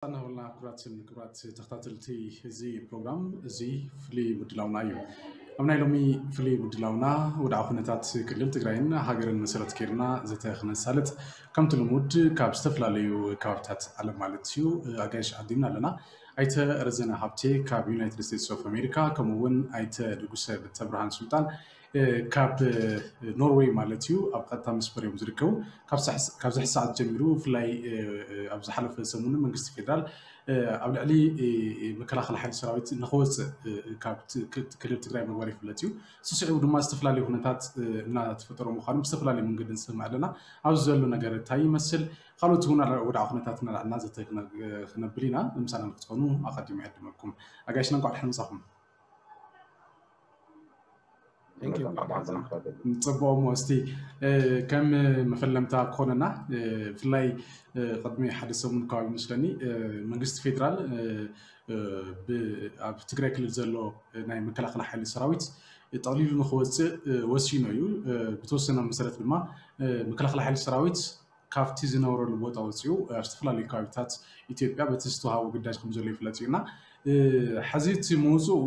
እናበልና ክቡራትን ክቡራት ተኸታተልቲ እዚ ፕሮግራም፣ እዚ ፍሉይ ምድላውና እዩ። ኣብ ናይ ሎሚ ፍሉይ ምድላውና ወድዓ ኩነታት ክልል ትግራይን ሃገርን መሰረት ጌርና ዘተ ክነሳልጥ፣ ከምቲ ልሙድ ካብ ዝተፈላለዩ ከባብታት ዓለም ማለት እዩ ኣጋይሽ ዓዲምና ኣለና። ኣይተ ረዘነ ሃብቴ ካብ ዩናይትድ ስቴትስ ኦፍ ኣሜሪካ፣ ከምኡ እውን ኣይተ ንጉሰ ብተብርሃን ሱልጣን ካብ ኖርዌይ ማለት እዩ ኣብ ቀጥታ መስመር እዮም ዝርከቡ። ካብዚ ሕሳዓት ጀሚሩ ብፍላይ ኣብ ዝሓለፈ ሰሙን መንግስቲ ፌደራል ኣብ ልዕሊ መከላኸሊ ሓይሊ ሰራዊት ንክወፅእ ካብ ክልል ትግራይ ምግባር ይፍለጥ እዩ። ስስዒቡ ድማ ዝተፈላለዩ ኩነታት እናተፈጠሩ ምዃኑ ብዝተፈላለዩ መንገዲ ንሰምዕ ኣለና። ኣብዚ ዘሎ ነገር እንታይ ይመስል፣ ካልኦት እውን ወድዓ ኩነታት እናልዓልና ዘተ ክነብል ኢና። ምሳና ንክትኾኑ ኣቐዲሙ ይዕድመኩም። ኣጋይሽና እንኳዕ ደሓን መፃኹም። Thank you። ፅቡቕ እሞ እስቲ ከም መፈለምታ ክኾነና ብፍላይ ቅድሚ ሓደ ሰሙን ከባቢ መስለኒ መንግስቲ ፌደራል ኣብ ትግራይ ክልል ዘሎ ናይ መከላኸሊ ሓይሊ ሰራዊት ጠቕሊሉ ንክወፅእ ወሲኑ እዩ። ብተወሰነ መሰረት ድማ መከላኸሊ ሓይሊ ሰራዊት ካብቲ ዝነበረሉ ቦታ ወፂኡ ኣብ ዝተፈላለዩ ከባቢታት ኢትዮጵያ በቲ ዝተዋሃቦ ግዳጅ ከም ዘሎ ይፍለጥ እዩ እና ሕዚ እቲ ምውፅኡ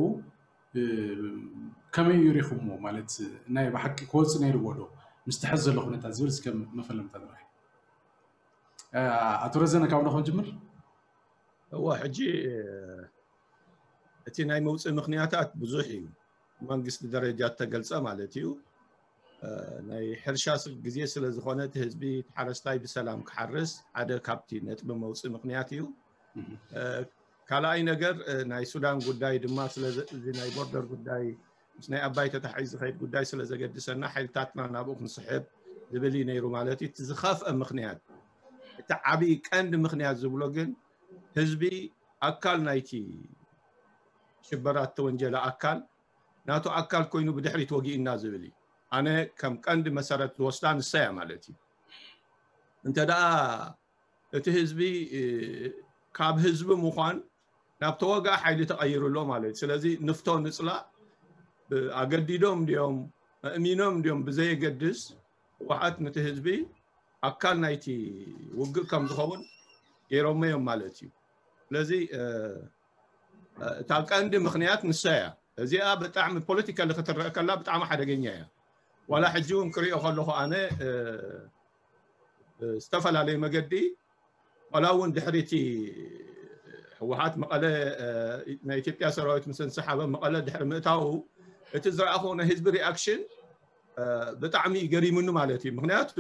ከመይ እዩ ሪኹምዎ? ማለት ናይ ብሓቂ ክወፅእ ነይርዎ ዶ ምስቲ ሕዚ ዘሎ ኩነታት ዝብል እስከ መፈለምታ ንርኣይ። ኣቶ ረዘነ ካብ ንኾን ጅምር። እዋ ሕጂ እቲ ናይ መውፅኢ ምኽንያታት ብዙሕ እዩ። መንግስቲ ደረጃ እተገልፀ ማለት እዩ። ናይ ሕርሻ ግዜ ስለ ዝኾነ እቲ ህዝቢ፣ እቲ ሓረስታይ ብሰላም ክሓርስ ሓደ ካብቲ ነጥቢ መውፅኢ ምኽንያት እዩ። ካልኣይ ነገር ናይ ሱዳን ጉዳይ ድማ ስለዚ ናይ ቦርደር ጉዳይ ምስ ናይ ኣባይ ተታሒዙ ዝኸይድ ጉዳይ ስለ ዘገድሰና ሓይልታትና ናብኡ ክንስሕብ ዝብል እዩ ነይሩ ማለት እዩ። እቲ ዝኸፍአ ምኽንያት፣ እቲ ዓብዪ ቀንዲ ምኽንያት ዝብሎ ግን ህዝቢ ኣካል ናይቲ ሽበራ እተወንጀለ ኣካል ናቱ ኣካል ኮይኑ ብድሕሪት ወጊእና ዝብል እዩ። ኣነ ከም ቀንዲ መሰረት ዝወስዳ ንሳ እያ ማለት እዩ። እንተ ደኣ እቲ ህዝቢ ካብ ህዝቢ ምዃን ናብ ተወግኣ ሓይሊ ተቐይሩ ኣሎ ማለት እዩ። ስለዚ ንፍቶ ንፅላእ ኣገዲዶም እንዲዮም ኣእሚኖም እንዲዮም ብዘየገድስ ህወሓት ነቲ ህዝቢ ኣካል ናይቲ ውግእ ከም ዝኸውን ገይሮሞ እዮም ማለት እዩ። ስለዚ እታ ቀንዲ ምኽንያት ንሳ እያ። እዚኣ ብጣዕሚ ፖለቲካሊ ክትረአ ከላ ብጣዕሚ ሓደገኛ እያ። ዋላ ሕጂ እውን ክሪኦ ከለኹ ኣነ ብዝተፈላለየ መገዲ ዋላ እውን ድሕሪ እቲ ህወሓት መቐለ ናይ ኢትዮጵያ ሰራዊት ምስ እንሰሓበ መቐለ ድሕሪ ምእታዉ እቲ ዝረኣኹ ናይ ህዝቢ ሪኣክሽን ብጣዕሚ ገሪሙኒ ማለት እዩ። ምክንያቱ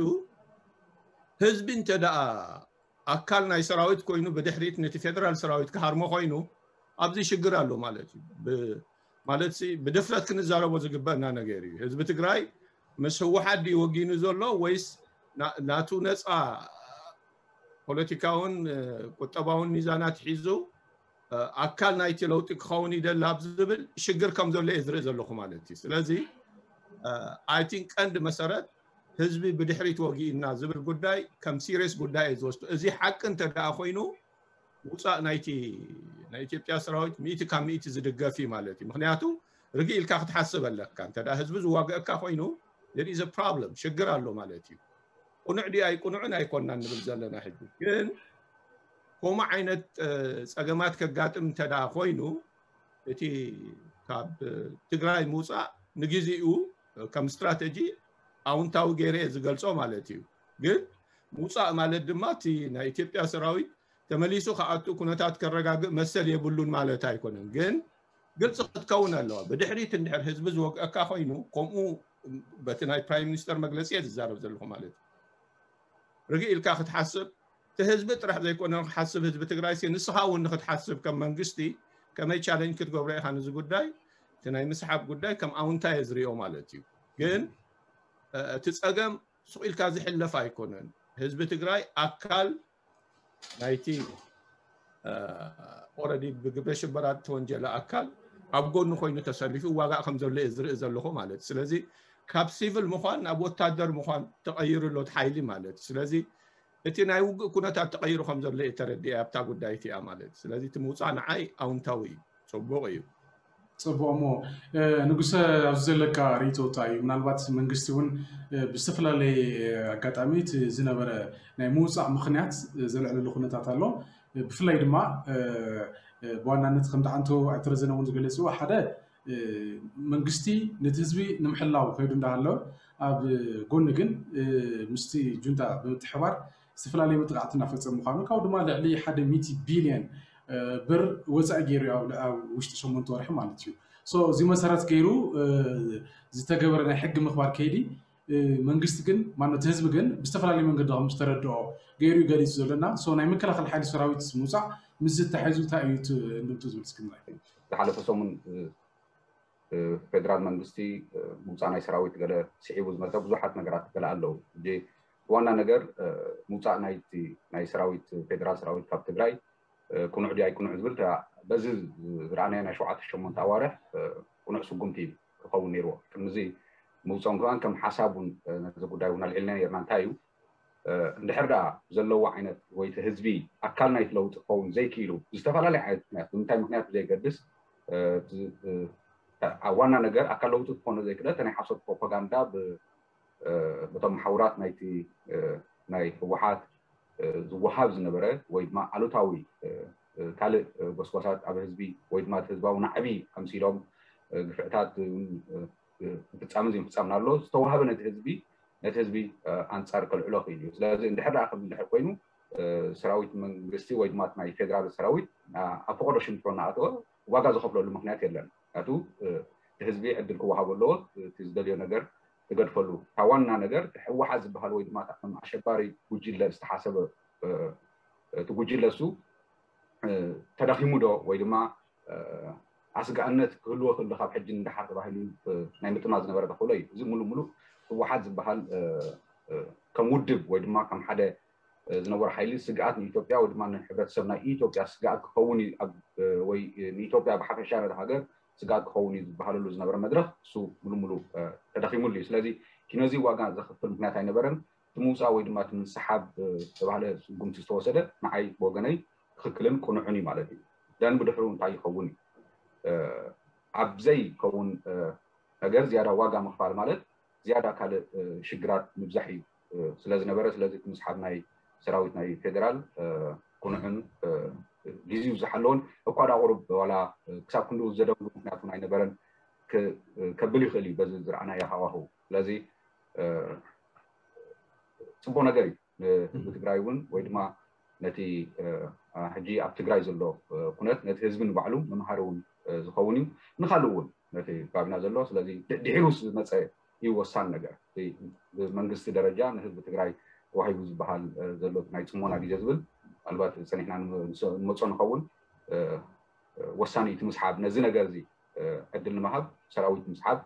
ህዝቢ እንተ ደኣ ኣካል ናይ ሰራዊት ኮይኑ ብድሕሪት ነቲ ፌደራል ሰራዊት ክሃርሞ ኮይኑ ኣብዚ ሽግር ኣሎ ማለት እዩ። ማለት ብድፍረት ክንዛረቦ ዝግበእና ነገር እዩ። ህዝቢ ትግራይ ምስ ህወሓት ድዩ ወጊኑ ዘሎ ወይስ ናቱ ነፃ ፖለቲካውን ቁጠባውን ሚዛናት ሒዙ ኣካል ናይቲ ለውጢ ክኸውን ይደሊ ኣብ ዝብል ሽግር ከም ዘሎ እየ ዝርኢ ዘለኹ ማለት እዩ። ስለዚ ኣይ ቲንክ ቀንዲ መሰረት ህዝቢ ብድሕሪት ወጊእና ዝብል ጉዳይ ከም ሲሪየስ ጉዳይ እየ ዝወስዶ። እዚ ሓቂ እንተ ደኣ ኮይኑ ምውፃእ ናይቲ ናይ ኢትዮጵያ ሰራዊት ሚእቲ ካብ ሚእቲ ዝድገፍ እዩ ማለት እዩ። ምክንያቱ ርግእ ኢልካ ክትሓስብ ኣለካ። እንተ ደኣ ህዝቢ ዝዋግአካ ኮይኑ there is a problem፣ ሽግር ኣሎ ማለት እዩ። ቁኑዕ ድዩ ኣይቁኑዕን ኣይኮናን ንብል ዘለና ሕጂ። ግን ከምኡ ዓይነት ፀገማት ከጋጥም እንተ ደኣ ኮይኑ እቲ ካብ ትግራይ ምውፃእ ንግዜኡ ከም ስትራተጂ ኣውንታዊ ገይረ እየ ዝገልፆ ማለት እዩ። ግን ምውፃእ ማለት ድማ እቲ ናይ ኢትዮጵያ ሰራዊት ተመሊሱ ክኣቱ ኩነታት ከረጋግእ መሰል የብሉን ማለት ኣይኮነን። ግን ግልፂ ክትከውን ኣለዋ። ብድሕሪት እንድሕር ህዝቢ ዝወግአካ ኮይኑ ከምኡ በቲ ናይ ፕራይም ሚኒስተር መግለፂ እየ ዝዛረብ ዘለኹ ማለት እዩ። ርግእ ኢልካ ክትሓስብ እቲ ህዝቢ ጥራሕ ዘይኮነ ክሓስብ ህዝቢ ትግራይ ሲ ንስኻ እውን ንክትሓስብ ከም መንግስቲ ከመይ ቻለንጅ ክትገብሮ ኢኻ ነዚ ጉዳይ እቲ ናይ ምስሓብ ጉዳይ ከም ኣውንታ እየ ዝሪኦ ማለት እዩ። ግን እቲ ፀገም ሱቕ ኢልካ ዝሕለፍ ኣይኮነን። ህዝቢ ትግራይ ኣካል ናይቲ ኦረዲ ብግብረ ሽበራ ተወንጀለ ኣካል ኣብ ጎኑ ኮይኑ ተሰሊፉ ዋጋእ ከም ዘሎ እየ ዝርኢ ዘለኹ ማለት እዩ። ስለዚ ካብ ሲቪል ምዃን ናብ ወታደር ምዃን ተቐይሩ ኣሎ እቲ ሓይሊ ማለት እዩ። ስለዚ እቲ ናይ ውግእ ኩነታት ተቐይሩ ከም ዘሎ እየ ተረዲአ ኣብታ ጉዳይ እቲኣ ማለት እዩ። ስለዚ እቲ ምውፃእ ንዓይ ኣውንታዊ እዩ፣ ፅቡቕ እዩ። ፅቡቕ እሞ ንጉሰ ኣብዚ ዘለካ ርእይቶ እንታይ እዩ? ምናልባት መንግስቲ እውን ብዝተፈላለየ ኣጋጣሚ እቲ ዝነበረ ናይ ምውፃእ ምኽንያት ዘልዕለሉ ኩነታት ኣሎ። ብፍላይ ድማ ብዋናነት ከምቲ ዓንቶ ኣይተረዘነ እውን ዝገለፅዎ ሓደ መንግስቲ ነቲ ህዝቢ ንምሕላው ከይዱ እንዳሃለወ ኣብ ጎኒ ግን ምስቲ ጁንታ ብምትሕባር ዝተፈላለዩ መጥቃዕቲ እናፈፀሙ ምዃኑ ካብኡ ድማ ልዕሊ ሓደ ሚእቲ ቢልዮን ብር ወፃኢ ገይሩ ኣብ ውሽጢ ሸሞንተ ወርሒ ማለት እዩ። እዚ መሰረት ገይሩ ዝተገበረ ናይ ሕጊ ምኽባር ከይዲ መንግስቲ ግን ማነው ህዝቢ ግን ብዝተፈላለየ መንገዲ ከም ዝተረድኦ ገይሩ ገሊፁ ዘለና ናይ መከላኸል ሓይሊ ሰራዊት ምውፃእ ምስ ዝተሓይዙ እንታይ እዩ እንድምቱ ዝብል እስክንድራይ? ዝሓለፈ ሰሙን ፌደራል መንግስቲ ምውፃእ ናይ ሰራዊት ገለ ስዒቡ ዝመፀ ብዙሓት ነገራት ገለ ኣለዉ። ዋና ነገር ምውፃእ ናይ ሰራዊት ፌደራል ሰራዊት ካብ ትግራይ ቅኑዕ ድዩ ኣይቅኑዕ ዝብል በዚ ዝረኣናዮ ናይ ሸውዓተ ሸሞንተ ኣዋርሕ ቅኑዕ ስጉምቲ እዩ ክኸውን ነይርዎ። ቅድሚ እዚ ምውፅኦም ከማን ከም ሓሳብ እውን ነዚ ጉዳይ እውን ኣልዒልና ነርና። እንታይ እዩ እንድሕር ደኣ ዘለዎ ዓይነት ወይ እቲ ህዝቢ ኣካል ናይቲ ለውጢ ክኸውን ዘይክኢሉ ብዝተፈላለየ ዓይነት ምክንያት ብምንታይ ምክንያት ብዘየገድስ ዋና ነገር ኣካል ለውጢ ክኾነ ዘይክእል ናይ ሓሶት ፕሮፓጋንዳ በቶም መሓውራት ናይቲ ናይ ህወሓት ዝወሃብ ዝነበረ ወይ ድማ ኣሉታዊ ካልእ ጎስጓሳት ኣብ ህዝቢ ወይ ድማ ህዝባዊ ናዕቢ ኣምሲሎም ግፍዕታት ፍፃሚ ዘይምፍፃም ኣሎ ዝተዋሃበ ነቲ ህዝቢ ነቲ ህዝቢ ኣንፃር ከልዕሎ ክኢሉ እዩ። ስለዚ እንድሕር ደኣ ከም እንድሕር ኮይኑ ሰራዊት መንግስቲ ወይ ድማ ናይ ፌደራል ሰራዊት ኣብ ፈቀዶ ሽንጥሮ እናኣተወ ዋጋ ዝኸፍለሉ ምክንያት የለን። ምክንያቱ ህዝቢ ዕድል ክወሃቦ ኣለዎ። እቲ ዝደልዮ ነገር ዝገድፈሉ እታ ዋና ነገር ህወሓት ዝበሃል ወይ ድማ ከም ኣሸባሪ ጉጅለ ዝተሓሰበ እቲ ጉጅለ እሱ ተዳኺሙ ዶ ወይ ድማ ኣስጋእነት ክህልዎ ክእል ካብ ሕጂ ንደሓር ተባሂሉ ናይ ምጥማት ዝነበረ ተኽእሎ እዩ። እዚ ሙሉ ሙሉ ህወሓት ዝበሃል ከም ውድብ ወይ ድማ ከም ሓደ ዝነበሩ ሓይሊ ስግኣት ንኢትዮጵያ ወይ ድማ ንሕብረተሰብ ናይ ኢትዮጵያ ስግኣት ክኸውን ወይ ንኢትዮጵያ ብሓፈሻ ነቲ ሃገር ስግኣት ክኸውን እዩ ዝበሃለሉ ዝነበረ መድረክ እሱ ሙሉ ሙሉ ተዳኺሙሉ እዩ። ስለዚ ኪኖዚ ዋጋ ዘኽፍል ምክንያት ኣይነበረን። እቲ ምውፃእ ወይ ድማ እቲ ምንስሓብ ዝተባህለ ስጉምቲ ዝተወሰደ ንዓይ ብወገነይ ትኽክልን ቅኑዕን እዩ ማለት እዩ። ደን ብድሕሩ እንታይ ይኸውን እዩ ኣብ ዘይከውን ነገር ዝያዳ ዋጋ ምኽፋል ማለት ዝያዳ ካልእ ሽግራት ምብዛሕ እዩ ስለዝነበረ ስለዚ እቲ ምስሓብ ናይ ሰራዊት ናይ ፌደራል ቅኑዕን ግዚኡ ዝሓለውን እኳ ዳ ቁሩብ ዋላ ክሳብ ክንድኡ ዘደንጉ ምክንያት እውን ኣይነበረን ከብል ይኽእል እዩ በዚ ዝረኣናዮ ሃዋህው። ስለዚ ፅቡቅ ነገር እዩ ንህዝቢ ትግራይ እውን ወይ ድማ ነቲ ሕጂ ኣብ ትግራይ ዘሎ ኩነት ነቲ ህዝቢ ንባዕሉ መምሃሪ እውን ዝኸውን እዩ። ንካልእ እውን ነቲ ከባቢና ዘሎ ስለዚ ድሒሩ ዝመፀ እዩ ወሳኒ ነገር። ብመንግስቲ ደረጃ ንህዝቢ ትግራይ ተዋሂቡ ዝበሃል ዘሎ ናይ ፅሞና ግዜ ዝብል ምናልባት ፀኒሕና ንመፆ ንኸውን ወሳኒ እዩ እቲ ምስሓብ ነዚ ነገር እዚ ዕድል ንምሃብ ሰራዊት ምስሓብ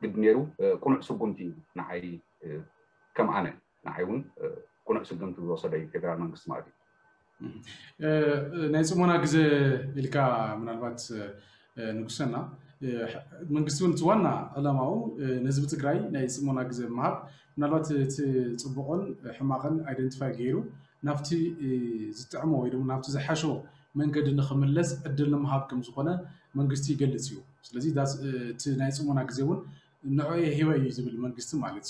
ግድ ነይሩ ቅኑዕ ስጉምቲ እዩ ንዓይ ከም ኣነ ንዓይ እውን ቅኑዕ ስጉምቲ ዝወሰደ እዩ ፌደራል መንግስቲ ማለት እዩ። ናይ ፅሞና ግዜ ኢልካ ምናልባት ንጉሰና መንግስቲ እውን እቲ ዋና ዕላማኡ ንህዝቢ ትግራይ ናይ ፅሞና ግዜ ምሃብ ምናልባት እቲ ፅቡቅን ሕማቅን ኣይደንቲፋይ ገይሩ ናብቲ ዝጥዕሞ ወይ ድማ ናብቲ ዝሓሾ መንገዲ ንክምለስ ዕድል ንምሃብ ከም ዝኾነ መንግስቲ ይገልፅ እዩ። ስለዚ እቲ ናይ ፅሞና ግዜ እውን ንዕኡ ሂበ እዩ ዝብል መንግስቲ ማለት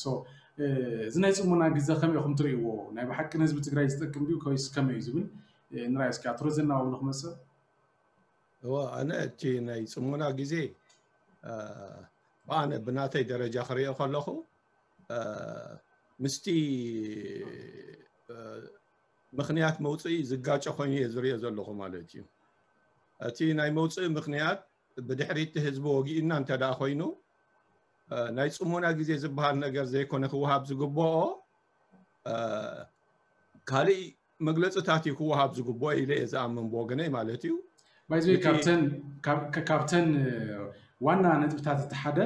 እዚ ናይ ፅሞና ግዜ ከመይ ኢኹም ትርእይዎ? ናይ ብሓቂ ንህዝቢ ትግራይ ዝጠቅም ድዩ ከይስ ከመይ እዩ ዝብል ንራይ እስኪ ኣቶ ረዘና ንክመፅእ እዋ ኣነ እቲ ናይ ፅሞና ግዜ ብኣነ ብናተይ ደረጃ ክሪኦ ከለኹ ምስቲ ምኽንያት መውፅኢ ዝጋጨ ኮይኑ እየ ዝሪኦ ዘለኹ ማለት እዩ። እቲ ናይ መውፅኢ ምኽንያት ብድሕሪቲ ህዝቢ ወጊእና እንተ ደኣ ኮይኑ ናይ ፅሞና ግዜ ዝበሃል ነገር ዘይኮነ ክወሃብ ዝግብኦ ካልእ መግለፅታት እዩ ክወሃብ ዝግብኦ ኢለ እየ ዝኣምን ብወገነይ ማለት እዩ። ባይዘይ ካብተን ዋና ነጥብታት እቲ ሓደ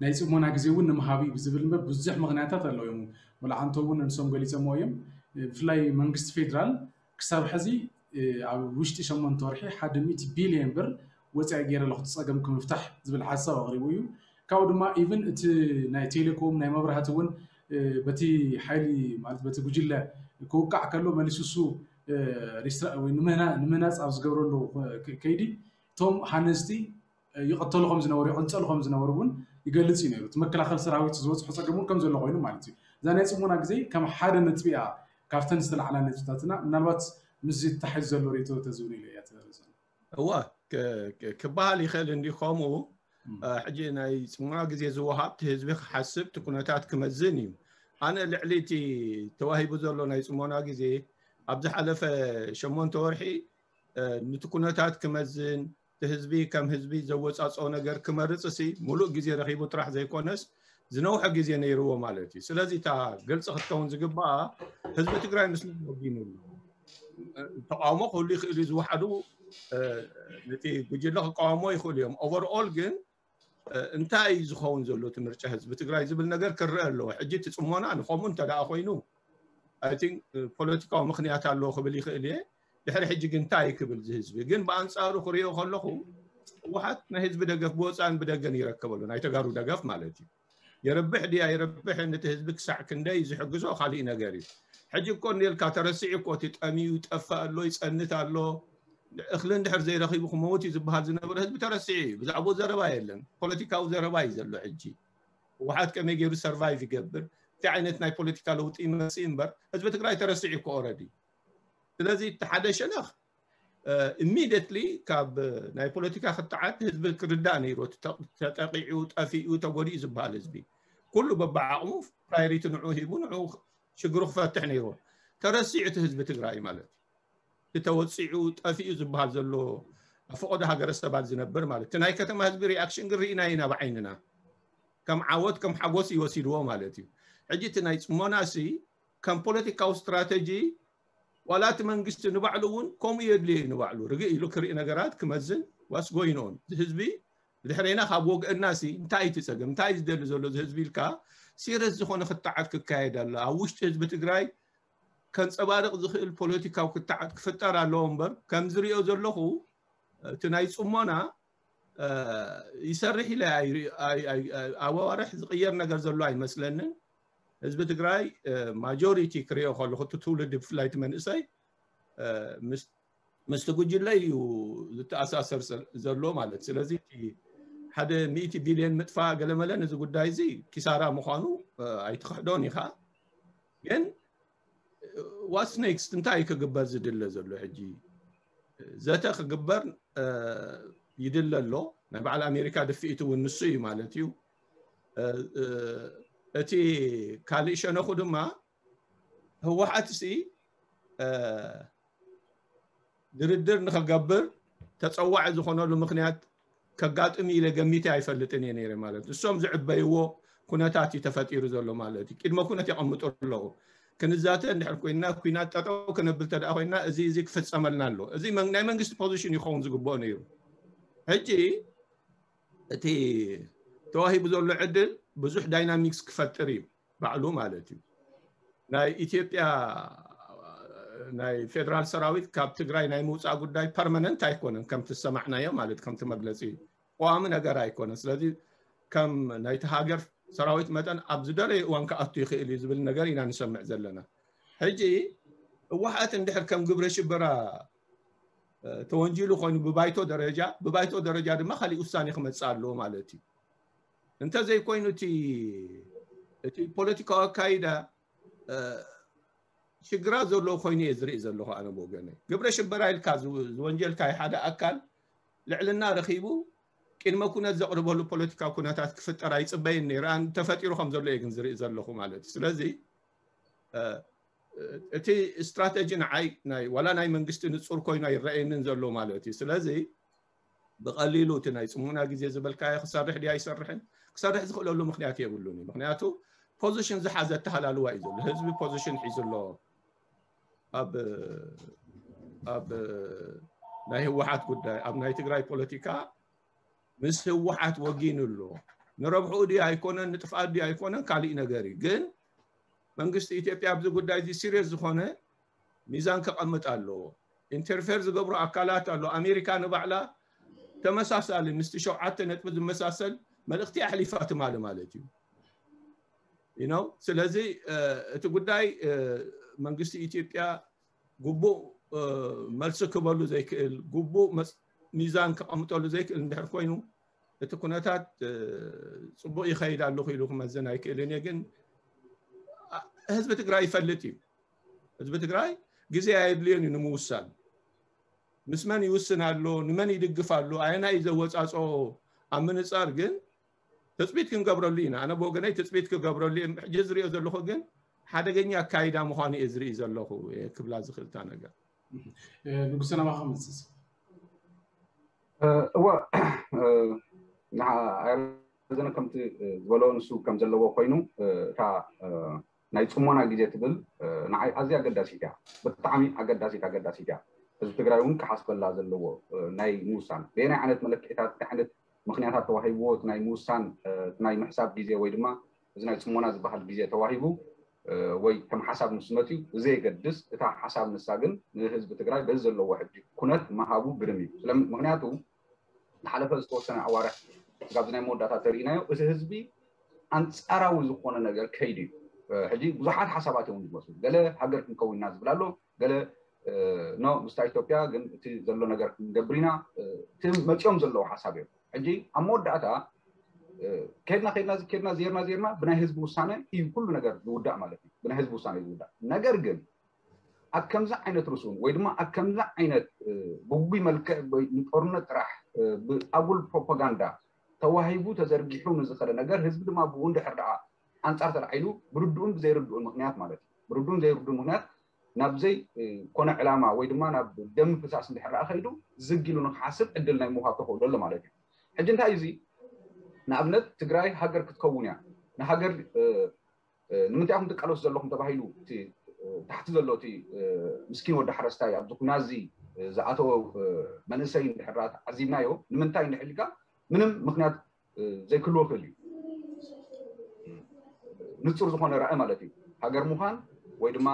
ናይ ፅሞና ግዜ እውን ንምሃብ እዩ ዝብል እምበር ብዙሕ ምክንያታት ኣለዉ እዮም። ወላ ዓንቶ እውን ንሶም ገሊፆምዎ እዮም። ብፍላይ መንግስቲ ፌደራል ክሳብ ሕዚ ኣብ ውሽጢ ሸሞንተ ወርሒ ሓደ ሚእቲ ቢልዮን ብር ወፃኢ ገይረ ኣለኹ እቲ ፀገም ክምፍታሕ ዝብል ሓሳብ ኣቕሪቡ እዩ። ካብኡ ድማ ኢቭን እቲ ናይ ቴሌኮም ናይ መብራህቲ እውን በቲ ሓይሊ ማለት በቲ ጉጅለ ክውቃዕ ከሎ መሊሱ እሱ ንምህናፅ ኣብ ዝገብረሉ ከይዲ እቶም ሃነፅቲ ይቐተሉ ከም ዝነበሩ ይቕንፀሉ ከም ዝነበሩ እውን ይገልፅ እዩ ነይሩ። እቲ መከላኸል ሰራዊት ዝበፅሖ ፀገም እውን ከም ዘሎ ኮይኑ ማለት እዩ። እዛ ናይ ፅሞና ግዜ ከም ሓደ ነጥቢ እያ ካብተን ዝተላዕላ ነጥብታትና ምናልባት ምስዚ ተታሒዙ ዘሎ ርእይቶ ተዝብል ኢለ እያ ትበርዘን። እዋ ክበሃል ይኽእል እንዲ። ከምኡ ሕጂ ናይ ጽሞና ግዜ ዝወሃብ እቲ ህዝቢ ክሓስብ እቲ ኩነታት ክመዝን እዩ። ኣነ ልዕሊ እቲ ተዋሂቡ ዘሎ ናይ ጽሞና ግዜ ኣብ ዝሓለፈ ሸሞንተ ወርሒ ነቲ ኩነታት ክመዝን እቲ ህዝቢ ከም ህዝቢ ዘወጻጽኦ ነገር ክመርጽ ሲ ሙሉእ ግዜ ረኺቡ ጥራሕ ዘይኮነስ ዝነውሐ ግዜ ነይርዎ ማለት እዩ። ስለዚ እታ ግልፂ ክትከውን ዝግባኣ ህዝቢ ትግራይ ምስ ወጊኑ ኣሎ። ተቃውሞ ክህሉ ይኽእል እዩ። ዝወሓዱ ነቲ ጉጅለ ክቃወሞ ይኽእሉ እዮም። ኦቨርኦል ግን እንታይ እዩ ዝኸውን ዘሎ እቲ ምርጫ ህዝቢ ትግራይ ዝብል ነገር ክረአ ኣለዎ። ሕጂ እቲ ጽሞና ንኸምኡ እንተ ደኣ ኮይኑ ኣይ ቲንክ ፖለቲካዊ ምኽንያት ኣለዎ ክብል ይኽእል እየ። ድሕሪ ሕጂ ግን እንታይ ክብል ዝህዝቢ ግን ብኣንፃሩ ክሪኦ ከለኹ ህወሓት ናይ ህዝቢ ደገፍ ብወፃእን ብደገን ይረከበሉ ናይ ተጋሩ ደገፍ ማለት እዩ። የረብሕ ድያ የረብሕን እቲ ህዝቢ ክሳዕ ክንደይ ዝሕግዞ ካሊእ ነገር እዩ። ሕጂ እኮ እንዴልካ ተረሲዑ እኮ እቲ ጠሚዩ ይጠፍእ ኣሎ ይፀንት ኣሎ እኽሊ እንድሕር ዘይረኺቡ ክመውት እዩ ዝበሃል ዝነበረ ህዝቢ ተረሲዑ እዩ። ብዛዕባኡ ዘረባ የለን። ፖለቲካዊ ዘረባ እዩ ዘሎ ሕጂ። ህወሓት ከመይ ገይሩ ሰርቫይቭ ይገብር፣ እንታይ ዓይነት ናይ ፖለቲካ ለውጢ ይመፅእ እምበር ህዝቢ ትግራይ ተረሲዑ እኮ ኦረዲ። ስለዚ እቲ ሓደ ሸነኽ ኢሚዲየትሊ ካብ ናይ ፖለቲካ ክትዓት ህዝቢ ክርዳእ ነይሩ። ተጠቂዑ ጠፊኡ ተጎዲኡ ዝበሃል ህዝቢ ኩሉ በብዓቕሙ ፕራዮሪቲ ንዑ ሂቡ ንዑ ሽግሩ ክፈትሕ ነይሩ። ተረሲዑ እቲ ህዝቢ ትግራይ ማለት እዩ። እቲ ተወፂዑ ጠፊኡ ዝበሃል ዘሎ ኣብ ፈቐዶ ሃገረሰባት ዝነብር ማለት እቲ ናይ ከተማ ህዝቢ ሪኣክሽን ግን ርኢና ኢና ብዓይንና። ከም ዓወት ከም ሓጎስ ይወሲድዎ ማለት እዩ። ሕጂ እቲ ናይ ፅሞና ሲ ከም ፖለቲካዊ ስትራተጂ ዋላ እቲ መንግስቲ ንባዕሉ እውን ከምኡ የድልዮ እዩ። ንባዕሉ ርግእ ኢሉ ክርኢ ነገራት ክመዝን ዋስ ጎይኖን ህዝቢ ብድሕሬና ካብ ወግእና ሲ እንታይ እቲ ፀገም እንታይ ዝደሊ ዘሎ እዚ ህዝቢ ኢልካ ሲረስ ዝኾነ ክትዓት ክካየድ ኣሎ። ኣብ ውሽጢ ህዝቢ ትግራይ ከንፀባርቕ ዝኽእል ፖለቲካዊ ክትዓት ክፍጠር ኣለዎ እምበር ከም ዝሪኦ ዘለኹ እቲ ናይ ፅሞና ይሰርሕ ኢለ ኣብ ኣዋርሕ ዝቕየር ነገር ዘሎ ኣይመስለንን። ህዝቢ ትግራይ ማጆሪቲ ክሪኦ ከለኹ እቲ ትውልዲ ብፍላይ እቲ መንእሰይ ምስቲ ጉጅለ እዩ ዝተኣሳሰር ዘሎ ማለት። ስለዚ ሓደ ሚእቲ ቢልዮን ምጥፋእ ገለመለ ነዚ ጉዳይ እዚ ኪሳራ ምዃኑ ኣይትኽሕዶን ኢኻ። ግን ዋትስ ኔክስት እንታይ ክግበር ዝድለ ዘሎ? ሕጂ ዘተ ክግበር ይድለ ኣሎ። ናይ በዓል ኣሜሪካ ድፍኢት እውን ንሱ እዩ ማለት እዩ። እቲ ካልእ ሸነኹ ድማ ህወሓት ሲ ድርድር ንክገብር ተፀዋዒ ዝኾነሉ ምክንያት ከጋጥም ኢለ ገሚተ ኣይፈልጥን እየ ነይረ ማለት ንሶም ዝዕበይዎ ኩነታት እዩ ተፈጢሩ ዘሎ ማለት እዩ። ቅድመ ኩነት የቐምጡ ኣለዉ። ክንዛተ እንድሕር ኮይና ኩናት ጠጠው ክነብል ተደኣ ኮይና እዚ እዚ ክፍፀመልና ኣሎ። እዚ ናይ መንግስቲ ፖዚሽን ይኸውን ዝግብኦ ነይሩ። ሕጂ እቲ ተዋሂቡ ዘሎ ዕድል ብዙሕ ዳይናሚክስ ክፈጥር እዩ ባዕሉ ማለት እዩ። ናይ ኢትዮጵያ ናይ ፌደራል ሰራዊት ካብ ትግራይ ናይ ምውፃእ ጉዳይ ፐርማነንት ኣይኮነን ከምቲ ዝሰማዕናዮ ማለት ከምቲ መግለፂ ቀዋሚ ነገር ኣይኮነን። ስለዚ ከም ናይቲ ሃገር ሰራዊት መጠን ኣብ ዝደለየ እዋን ክኣቱ ይኽእል እዩ ዝብል ነገር ኢና ንሰምዕ ዘለና። ሕጂ ህወሓት እንድሕር ከም ግብረ ሽበራ ተወንጂሉ ኮይኑ ብባይቶ ደረጃ ብባይቶ ደረጃ ድማ ካሊእ ውሳኔ ክመፅእ ኣለዎ ማለት እዩ። እንተዘይኮይኑ እቲ እቲ ፖለቲካዊ ኣካይዳ ሽግራት ዘለዎ ኮይኑ እየ ዝርኢ ዘለኹ። ኣነ ብወገነይ ግብረ ሽበራ ኢልካ ዝወንጀልካይ ሓደ ኣካል ልዕልና ረኺቡ ቅድመ ኩነት ዘቕርበሉ ፖለቲካዊ ኩነታት ክፍጠር ኣይፅበይን ነይረ። ተፈጢሩ ከም ዘሎ እየ ግን ዝርኢ ዘለኹ ማለት እዩ። ስለዚ እቲ ስትራተጂ ንዓይ ዋላ ናይ መንግስቲ ንፁር ኮይኑ ኣይረኣየንን ዘሎ ማለት እዩ። ስለዚ ብቐሊሉ እቲ ናይ ፅሙና ግዜ ዝበልካዮ ክሰርሕ ድዩ ኣይሰርሕን ክሰርሕ ዝኽእለሉ ምክንያት የብሉን እዩ። ምክንያቱ ፖዚሽን ዝሓዘ ኣተሃላልዋ እዩ ዘሎ። ህዝቢ ፖዚሽን ሒዙ ኣሎ። ኣብ ኣብ ናይ ህወሓት ጉዳይ ኣብ ናይ ትግራይ ፖለቲካ ምስ ህወሓት ወጊኑ ኣሎ። ንረብሕኡ ድዩ ኣይኮነን ንጥፍኣት ድዩ ኣይኮነን ካሊእ ነገር እዩ። ግን መንግስቲ ኢትዮጵያ ኣብዚ ጉዳይ እዚ ሲሪየስ ዝኾነ ሚዛን ከቐምጥ ኣለዎ። ኢንተርፌር ዝገብሩ ኣካላት ኣሎ። ኣሜሪካ ንባዕላ ተመሳሳሊ ምስቲ ሸውዓተ ነጥቢ ዝመሳሰል መልእኽቲ ኣሕሊፋ ትማሊ ማለት እዩ። ስለዚ እቲ ጉዳይ መንግስቲ ኢትዮጵያ ግቡእ መልሲ ክበሉ ዘይክእል ግቡእ ሚዛን ከቐምጠሉ ዘይክእል እንድሕር ኮይኑ እቲ ኩነታት ፅቡቅ ይኸይድ ኣለኹ ኢሉ ክመዝን ኣይክእልን እየ። ግን ህዝቢ ትግራይ ይፈልጥ እዩ። ህዝቢ ትግራይ ግዜ ኣየድልዮን እዩ ንምውሳን። ምስ መን ይውስን ኣሎ፣ ንመን ይድግፍ ኣሎ፣ ኣየናይ እዩ ዘወፃፅኦ ኣብ ምንፃር ግን ትፅቢት ክንገብረሉ ኢና። ኣነ ብወገነይ ትፅቢት ክገብረሉ እየ። ሕጂ ዝሪኦ ዘለኹ ግን ሓደገኛ ኣካይዳ ምዃኑ እየ ዝርኢ ዘለኹ። እየ ክብላ ዝኽእልታ ነገር ንጉሰ ናባኻ መፅስ እወ ንዘነ ከምቲ ዝበሎ ንሱ ከም ዘለዎ ኮይኑ እታ ናይ ፅሞና ግዜ ትብል ንዓይ ኣዝያ ኣገዳሲት እያ። ብጣዕሚ ኣገዳሲት ኣገዳሲት እያ። ህዝቢ ትግራይ እውን ክሓስበላ ዘለዎ ናይ ምውሳን በየናይ ዓይነት መለክዒታት እንታይ ዓይነት ምክንያታት ተዋሂብዎ እቲ ናይ ምውሳን እቲ ናይ ምሕሳብ ግዜ ወይ ድማ እዚ ናይ ፅሞና ዝበሃል ግዜ ተዋሂቡ ወይ ከም ሓሳብ ንሱ መፅዩ ብዘየገድስ እታ ሓሳብ ንሳ ግን ንህዝቢ ትግራይ በዚ ዘለዎ ሕጂ ኩነት ምሃቡ ግርም እዩ። ምክንያቱ ዝሓለፈ ዝተወሰነ ኣዋርሕ ስጋብ ናይ መወዳእታ ተርእናዮ እቲ ህዝቢ ኣንፃራዊ ዝኾነ ነገር ከይዱ እዩ። ሕጂ ብዙሓት ሓሳባት እዮም ዝመስሉ። ገለ ሃገር ክንከውንና ዝብል ኣሎ፣ ገለ ኖ ምስታ ኢትዮጵያ ግን እቲ ዘሎ ነገር ክንገብር ኢና። እቲ መፂኦም ዘለዉ ሓሳብ እዮም። ሕጂ ኣብ መወዳእታ ከድና ከድና ከድና ዜርና ዜርና ብናይ ህዝቢ ውሳነ እዩ ኩሉ ነገር ዝውዳእ ማለት እዩ። ብናይ ህዝቢ ውሳነ እዩ ዝውዳእ። ነገር ግን ኣብ ከምዚ ዓይነት ርሱን ወይ ድማ ኣብ ከምዚ ዓይነት ብጉጉይ መልክዕ ንጦርነት ጥራሕ ብኣጉል ፕሮፓጋንዳ ተዋሂቡ ተዘርጊሑ ንዝኸደ ነገር ህዝቢ ድማ ብኡ እንድሕር ደኣ ኣንፃር ተላዒሉ ብርድኡን ብዘይርድኡን ምክንያት ማለት እዩ። ብርድኡን ዘይርድኡን ምክንያት ናብ ዘይኮነ ዕላማ ወይ ድማ ናብ ደም ፍሳስ እንድሕር ደኣ ከይዱ ዝግ ኢሉ ንክሓስብ ዕድል ናይ ምውሃብ ተኽእሎ ኣሎ ማለት እዩ። ሕጂ እንታይ እዩ እዚ? ንኣብነት ትግራይ ሃገር ክትከውን እያ፣ ንሃገር ንምንታይ ኢኹም ትቃለሱ ዘለኹም ተባሂሉ እቲ ታሕቲ ዘሎ እቲ ምስኪን ወዲ ሓረስታይ ኣብዚ ኩናት እዚ ዝኣተወ መንእሰይ እንድሕር ተዓዚብናዮ ንምንታይ እንድሕር ኢልካ ምንም ምክንያት ዘይክህልዎ ክእል እዩ። ንፁር ዝኾነ ራእይ ማለት እዩ። ሃገር ምዃን ወይ ድማ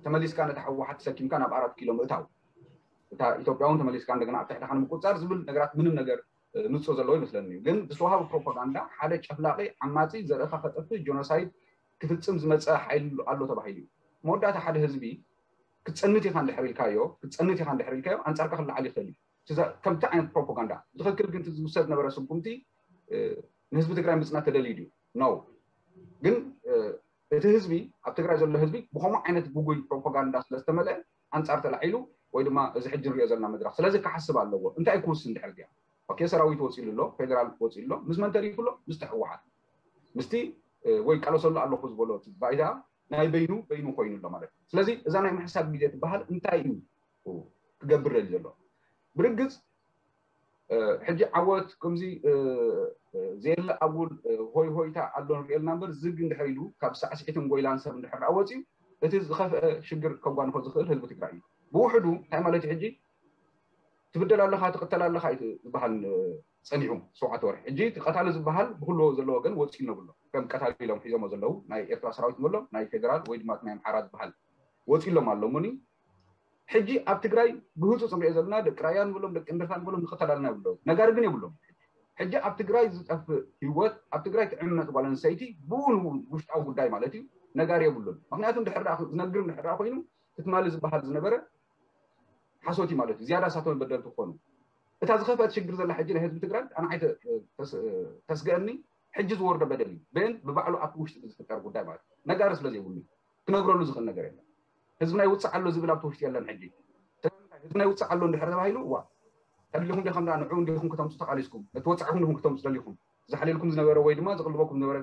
ተመሊስካ ነቲ ህወሓት ተሰኪምካ ናብ ኣራት ኪሎ ምእታው እታ ኢትዮጵያ እውን ተመሊስካ እንደገና ኣብ ትሕትኻ ንምቁፅፃር ዝብል ነገራት ምንም ነገር ንፁር ዘለዎ ይመስለኒ እዩ። ግን ብዝተዋሃቡ ፕሮፓጋንዳ ሓደ ጨፍላቂ ዓማፂ ዘርእኻ ከጠፍእ ጆኖሳይድ ክፍፅም ዝመፀ ሓይሊ ኣሎ ተባሂሉ እዩ። መወዳእታ ሓደ ህዝቢ ክትፀንት ኢኻ እንድሕር ኢልካዮ ክትፀንት ኢኻ እንድሕር ኢልካዮ ኣንፃርካ ክለዓል ይኽእል እዩ። ከምቲ ዓይነት ፕሮፓጋንዳ ትኽክል ግን ዝውሰድ ነበረ ስጉምቲ ንህዝቢ ትግራይ ምፅናት ተደልዩ ድዩ ነው ግን እቲ ህዝቢ ኣብ ትግራይ ዘሎ ህዝቢ ብከምኡ ዓይነት ጉጉይ ፕሮፓጋንዳ ስለዝተመልአ ኣንፃር ተላዒሉ ወይ ድማ እዚ ሕጂ ንሪኦ ዘለና መድረክ ስለዚ ክሓስብ ኣለዎ። እንታይ ክውስን ድሕር ዚኣ ኦኬ ሰራዊት ወፂሉ ኣሎ፣ ፌደራል ወፂሉ ኣሎ፣ ምስ መን ተሪፉ ኣሎ? ምስቲ ህወሓት ምስቲ ወይ ቃለሰሉ ኣለኹ ዝበሎ ባይታ ናይ በይኑ በይኑ ኮይኑ ኣሎ ማለት እዩ። ስለዚ እዛ ናይ ምሕሳብ ግዜ ትበሃል እንታይ እዩ ክገብር ደሊ ዘሎ? ብርግፅ ሕጂ ዓወት ከምዚ ዘየለ ኣጉል ሆይ ሆይታ ኣሎ ንሪኦ ኣለና እምበር ዝግ እንድሕር ኢሉ ካብ ሳዕስዒትን ጎይላን ሰብ እንድሕር ደኣ ወፂኡ እቲ ዝኸፍአ ሽግር ከጓንፎ ዝኽእል ህዝቢ ትግራይ እዩ። ብውሕዱ እንታይ ማለት እዩ ሕጂ ትብደል ኣለኻ ትቕተል ኣለኻ እዩ ዝበሃል ፀኒሑ ሸውዓተ ወርሒ ሕጂ እቲ ቀታሊ ዝበሃል ብኩሉ ዘሎ ወገን ወፂኡ ነብሎ ከም ቀታሊ ኢሎም ሒዞሞ ዘለዉ ናይ ኤርትራ ሰራዊት ንበሎ ናይ ፌደራል ወይ ድማ ናይ ኣምሓራ ዝበሃል ወፂሎም ኣሎ እሞኒ ሕጂ ኣብ ትግራይ ብህፁፅ ንሪኦ ዘለና ደቂ ራያ ንብሎም ደቂ እንድርታ ንብሎም ንቐተል ኣለና ይብሎም ነጋሪ ግን የብሎም። ሕጂ ኣብ ትግራይ ዝጠፍእ ህይወት ኣብ ትግራይ ትዕመፅ ጓል ኣንስተይቲ ብኡ ንብኡ ውሽጣዊ ጉዳይ ማለት እዩ ነጋሪ የብሉን። ምክንያቱ እንድሕር ደኣ ዝነግር እንድሕር ደኣ ኮይኑ ትማሊ ዝበሃል ዝነበረ ሓሶት እዩ ማለት እዩ። ዝያዳ እሳቶም በደልቲ ክኾኑ እታ ዝኸፍአት ሽግር ዘላ ሕጂ ናይ ህዝቢ ትግራይ ኣንዓይ ተስገአኒ ሕጂ ዝወርዶ በደል እዩ። ብን ብባዕሉ ኣብቲ ውሽጢ ዝፍጠር ጉዳይ ማለት እዩ። ነጋሪ ስለ ዘይብሉ ክነግረሉ ዝኽእል ነገር የለን። ህዝብና ይውፅእ ኣሎ ዝብል ኣብቲ ውሽጢ የለን። ሕጂ ህዝብና ይውፅእ ኣሎ እንድሕር ተባሂሉ እዋ ተደሊኹም ዲኹም ንዑ እንዲኹም ክተምፁ ተቃሊስኩም ነቲ ወፃዕኹም ዲኹም ክተምፁ ደሊኹም ዝሓልየልኩም ዝነበረ ወይ ድማ ዝቕልበኩም ዝነበረ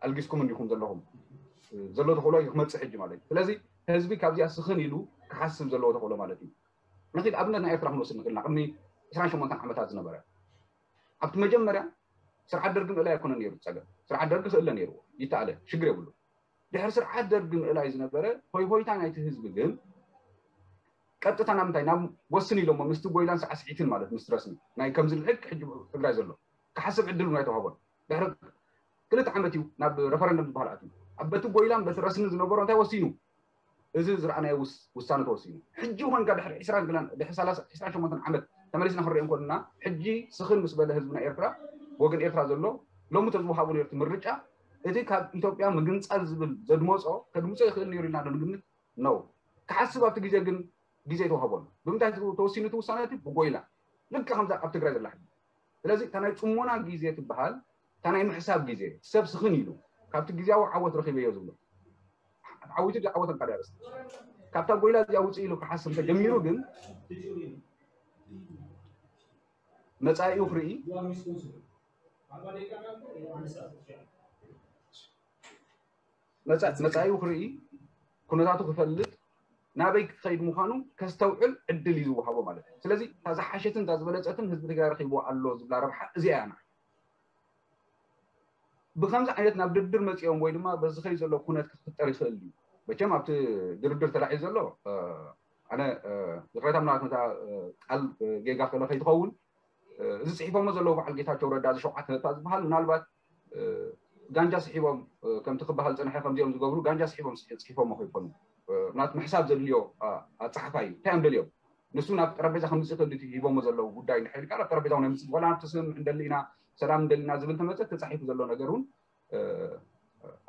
ኣልጊስኩም እንዲኹም ዘለኹም ዘሎ ተኽእሎ እዩ ክመፅእ ሕጂ ማለት እዩ። ስለዚ ህዝቢ ካብዚኣ ስኽን ኢሉ ክሓስብ ዘለዎ ተኽእሎ ማለት እዩ። ንኺድ ኣብነት ናይ ኤርትራ ክንወስድ ንኽእልና ቅድሚ ዕስራን ሸሞንተን ዓመታት ዝነበረ ኣብቲ መጀመርያ ስርዓት ደርጊ ምእላይ ኣይኮነን ነይሩ ፀገም። ስርዓት ደርጊ ክእለ ነይርዎ ይተኣለ ሽግር የብሉ። ድሕሪ ስርዓት ደርጊ ምእላይ ዝነበረ ሆይ ሆይታ ናይቲ ህዝቢ ግን ቀጥታ ናብ ምንታይ ናብ ወስን ኢሎሞ ምስቲ ጎይላን ሳዕስዒትን ማለት ምስ ረስኒ ናይ ከምዚ ልሕቅ ሕጂ ትግራይ ዘሎ ክሓስብ ዕድል እውን ኣይተዋህቦን። ድሕሪ ክልተ ዓመት እዩ ናብ ረፈረንደም ዝበሃል ኣትዩ ኣብ በቲ ጎይላን በቲ ረስኒ ዝነበሮ እንታይ ወሲኑ እዚ ዝረኣናዮ ውሳነ ተወሲኑ ሕጂ ኮንካ ድሕሪ ዕስራን ሸሞንተን ዓመት ተመሊስና ክንሪኦ እንኮልና ሕጂ ስኽን ምስ በለ ህዝብና ኤርትራ ወገን ኤርትራ ዘሎ ሎሚ ተዝወሃቡ ነርቲ ምርጫ እቲ ካብ ኢትዮጵያ ምግንፃል ዝብል ዘድመፆ ከድምፆ ይኽእል ነይሩ ኢልና ዶ ንግምት ነው። ክሓስብ ኣብቲ ግዜ ግን ግዜ ተዋህቦን ብምንታይ ተወሲኑ እቲ ውሳነ እቲ ብጎይላ ልክዕ ከምዛ ኣብ ትግራይ ዘላ ሕጂ ስለዚ እታ ናይ ፅሞና ግዜ ትበሃል እታ ናይ ምሕሳብ ግዜ ሰብ ስኽን ኢሉ ካብቲ ግዜያዊ ዓወት ረኺበዮ ዝብሎ ዓዊቱ ዝዓወተን ካልእ ኣርእስቲ። ካብታ ጎይላ እዚኣ ውፅእ ኢሉ ክሓስብ ተጀሚሩ ግን መፃኢኡ ክርኢ መፃ- መፃኢኡ ክርኢ ኩነታቱ ክፈልጥ ናበይ ክኸይድ ምዃኑ ከስተውዕል ዕድል እዩ ዝወሃቦ ማለት እዩ። ስለዚ እታ ዝሓሸትን እታ ዝበለፀትን ህዝቢ ትግራይ ረኺብዎ ኣሎ ዝብላ ረብሓ እዚኣ እያ። ብከምዚ ዓይነት ናብ ድርድር መፂኦም ወይ ድማ በዚ ኸይ ዘሎ ኩነት ክፍጠር ይኽእል እዩ። መቸም ኣብቲ ድርድር ተላዒሉ ዘሎ ኣነ ይቅሬታ ምናልባት ነታ ቃል ጌጋ ከለ ከይትኸውን እዚ ፅሒፎሞ ዘለዉ በዓል ጌታቸው ረዳ እዚ ሸውዓተ ነጥባ ዝበሃል ምናልባት ጋንጃ ስሒቦም ከምቲ ክበሃል ዝፀንሐ ከምዚኦም ዝገብሩ ጋንጃ ስሒቦም ፅሒፎሞ ከይኮኑ ምናልባት ምሕሳብ ዘድልዮ ኣፀሓፋ እዩ። እንታይ እዮም ደልዮም? ንሱ ናብ ጠረጴዛ ከምፅእ ክእል ሂቦሞ ዘለዉ ጉዳይ እንድሕር ኢልካ ናብ ጠረጴዛ እውን ኣይምፅእ ዋላ ናብቲ ስምምዕ እንደሊ ኢና ሰላም እንደሊ ኢና ዝብል ተመፀ ተፃሒፉ ዘሎ ነገር እውን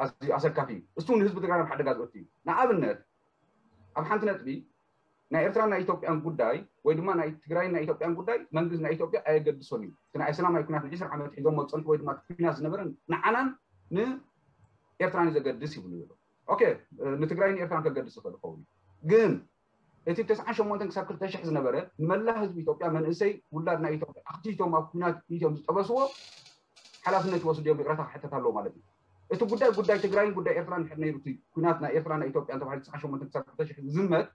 ኣዝዩ ኣሰካፊ እዩ። እሱ ንህዝቢ ትግራይ ናብ ሓደጋ ዝእቱ እዩ። ንኣብነት ኣብ ሓንቲ ነጥቢ ናይ ኤርትራን ናይ ኢትዮጵያን ጉዳይ ወይ ድማ ናይ ትግራይን ናይ ኢትዮጵያን ጉዳይ መንግስቲ ናይ ኢትዮጵያ ኣየገድሶን እዩ። እቲ ናይ ሰላማዊ ኩናት ን20 ዓመት ሒዞሞ ዝፀንሑ ወይ ድማ እቲ ኩናት ዝነበረ ንዓናን ንኤርትራን እዩ ዘገድስ ይብሉ ዘሎ። ኦኬ ንትግራይን ኤርትራን ከገድስ ይኽእል ይኸውን እዩ። ግን እቲ ብ98 ክሳብ 2,000 ዝነበረ ንመላእ ህዝቢ ኢትዮጵያ መንእሰይ ውላድ ናይ ኢትዮጵያ ኣኽቲቶም ኣብ ኩናት ኢትዮም ዝጠበስዎ ሓላፍነት ይወስዱ እዮም ይቕረታ ክሕተት ኣለዎ ማለት እዩ። እቲ ጉዳይ ጉዳይ ትግራይን ጉዳይ ኤርትራን እንድሕር ነይሩ እቲ ኩናት ናይ ኤርትራ ናይ ኢትዮጵያ ተባሂሉ 98 ክሳብ 2,000 ዝዝመት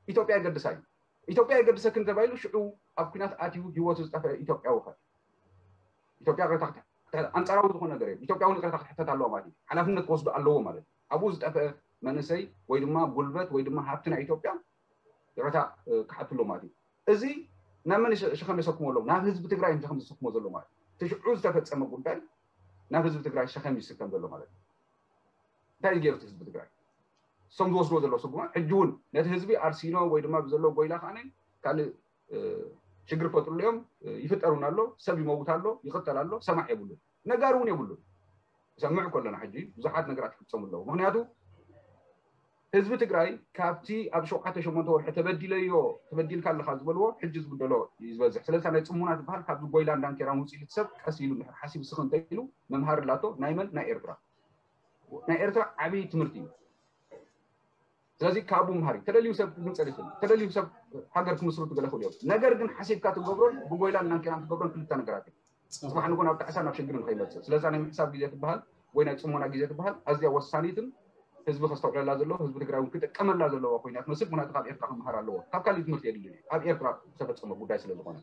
ኢትዮጵያ የገድሳ እዩ። ኢትዮጵያ የገድሰክን ተባሂሉ ሽዑ ኣብ ኩናት ኣትዩ ህይወቱ ዝጠፍአ ኢትዮጵያዊ ኸ ኢትዮጵያ ይቕረታ ክትሕ- ኣንጻራዊ ዝኾነ ነገር የለን። ኢትዮጵያ እውን ይቕረታ ክትሕተት ኣለዋ ማለት እዩ። ሓላፍነት ክወስዱ ኣለዎ ማለት እዩ። ኣብኡ ዝጠፍአ መንእሰይ ወይ ድማ ጉልበት ወይ ድማ ሃብቲ ናይ ኢትዮጵያ ይቕረታ ክሓቱ ኣለዎ ማለት እዩ። እዚ ናብ መን ሸ- ሸኸም የሰክሞ ኣለዉ? ናብ ህዝቢ ትግራይ እዮም ሸኸም ዘሰክሞ ዘሎ ማለት እዩ። እቲ ሽዑ ዝተፈጸመ ጉዳይ ናብ ህዝቢ ትግራይ ሸኸም ይስከም ዘሎ ማለት እዩ። እንታይ እዩ ገይሩ እቲ ህዝቢ ትግራይ? እሶም ዝወስድዎ ዘለዉ ስጉማ ሕጂ እውን ነቲ ህዝቢ ኣርሲኖ ወይ ድማ ብዘለዎ ጎይላ ከዓነ ካልእ ሽግር ፈጥሩሉ እዮም። ይፍጠር እውን ኣሎ፣ ሰብ ይመውት ኣሎ፣ ይቕተል ኣሎ፣ ሰማዕ የብሉን፣ ነጋሪ እውን የብሉን። ይሰምዕ ከለና ሕጂ ብዙሓት ነገራት ይፍፀሙ ኣለዉ። ምክንያቱ ህዝቢ ትግራይ ካብቲ ኣብ ሸውዓተ ሸሞንተ ወርሒ ተበዲለዮ ተበዲልካ ኣለካ ዝበልዎ ሕጂ ዝብደሎ እዩ ዝበዝሕ። ስለዚ ናይ ፅሙና ዝበሃል ካብዚ ጎይላ እንዳንኬራን ውፅኢት ሰብ ቀስ ኢሉ እንድሕር ሓሲብ ስኽ እንተኢሉ መምሃሪ ኣላቶ። ናይ መን? ናይ ኤርትራ። ናይ ኤርትራ ዓብዪ ትምህርቲ እዩ። ስለዚ ካብኡ ምሃር እዩ። ተደልዩ ሰብ ክግንፀል ይኽእል እዩ። ተደልዩ ሰብ ሃገር ክምስርቱ ገለ ክእሉ እዮም። ነገር ግን ሓሲብካ ትገብሮን ብጎይላን ናንኬራን ትገብሮን ክልተ ነገራት እዮም። ፅባሕ ንጎ ናብ ጣዕሳ ናብ ሽግር ንኸይመፅእ ስለዛ ናይ ምሕሳብ ግዜ ትበሃል ወይ ናይ ፅሞና ግዜ ትበሃል ኣዝያ ወሳኒትን ህዝቢ ከስተውዕለላ ዘለዎ ህዝቢ ትግራይ እውን ክጥቀመላ ዘለዋ ኮይና ትመስል። ምክንያቱ ካብ ኤርትራ ክመሃር ኣለዎ። ካብ ካልእ ትምህርቲ የድልን እዩ ኣብ ኤርትራ ዝተፈፀመ ጉዳይ ስለ ዝኾነ።